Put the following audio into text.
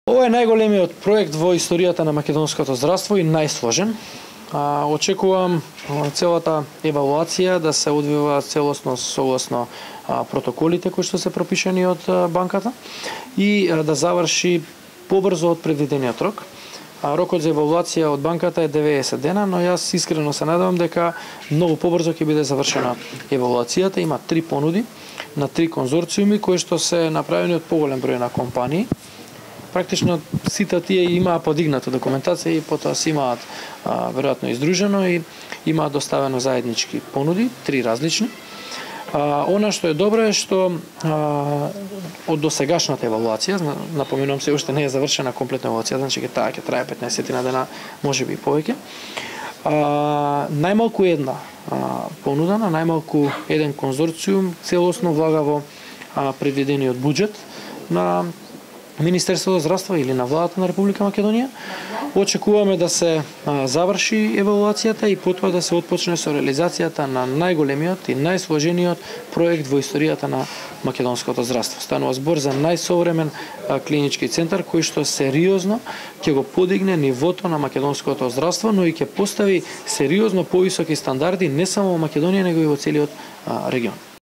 Ова е најголемиот проект во историјата на македонското здравство и најсложен. Очекувам целата евалуација да се одвива целосно согласно протоколите кои што се пропишани од банката и да заврши побрзо од предвидениот рок. Рокот за евалуација од банката е 90 дена, но јас искрено се надевам дека многу побрзо ќе биде завршена евалуацијата. Има 3 понуди на 3 конзорциуми кои што се направени од поголем број на компании. Практично сите тие имаа подигната документација и потоа се имаат веројатно издружено и имаат доставено заеднички понуди, 3 различни. Она што е добро е што од досегашната евалуација, напоменувам се, уште не е завршена комплетна евалуација, значи ќе трае 15 дена, можеби и повеќе. Најмалку една понуда на најмалку еден конзорциум целосно влага во предвидениот буџет на Министерството за здравство или на владата на Република Македонија. Очекуваме да се заврши евалуацијата и потоа да се отпочне со реализацијата на најголемиот и најсложениот проект во историјата на македонското здравство. Станува збор за најсовремен клинички центар кој што сериозно ќе го подигне нивото на македонското здравство, но и ќе постави сериозно повисоки стандарди не само во Македонија, него и во целиот регион.